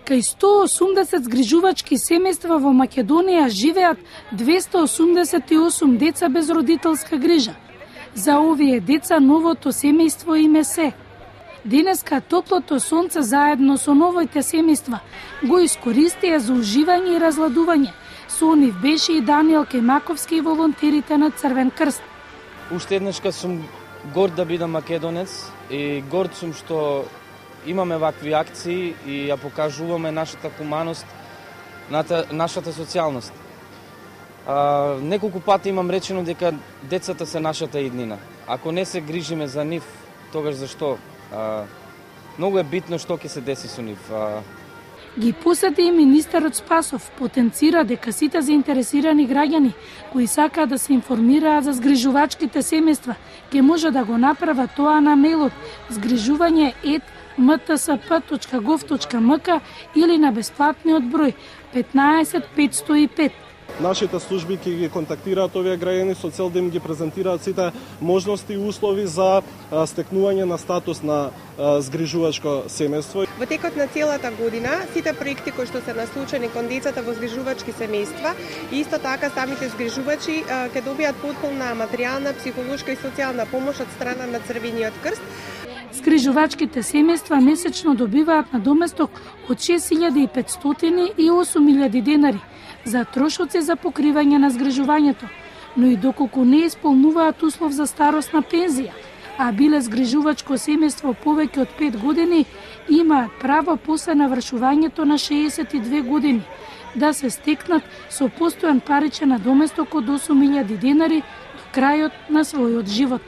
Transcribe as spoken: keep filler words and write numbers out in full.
Кај сто и осумдесет згрижувачки семејства во Македонија живеат двесте осумдесет и осум деца без родителска грижа. За овие деца новото семејство им е се. Денеска топлото сонце заедно со новите семејства го искористија за уживање и разладување. Со нив беше и Даниел Кемаковски и волонтерите на Црвен крст. Уште еднашка сум горд да бидам македонец и горд сум што имаме вакви акции и ја покажуваме нашата хуманост, нашата социјалност. А, неколку пати имам речено дека децата се нашата иднина. Ако не се грижиме за нив, тогаш зашто? А, многу е битно што ќе се деси со нив. А... Ги посети и министерот Спасов, потенцира дека сите заинтересирани граѓани кои сакаат да се информираат за згрижувачките семејства, ќе може да го направат тоа на мејлот згрижување ет ем те ес пе точка гов точка ем ка или на бесплатниот број петнаесет петстотини и пет. Нашите служби ќе ги контактираат овие граѓани со цел да им ги презентираат сите можности и услови за стекнување на статус на згрижувачко семејство. Во текот на целата година, сите проекти кои што се наслучени кон децата во згрижувачки семејства, и исто така самите згрижувачи ќе добијат потполна материјална, психолошка и социјална помош од страна на Црвениот крст. Згрижувачките семејства месечно добиваат надоместок од шест илјади и петстотини и осум илјади денари за трошоци за покривање на згрижувањето, но и доколку не исполнуваат услов за старосна пензија, а биле згрижувачко семејство повеќе од пет години, имаат право после навршувањето на шеесет и две години да се стекнат со постојан паричен надоместок од осум илјади денари до крајот на својот живот.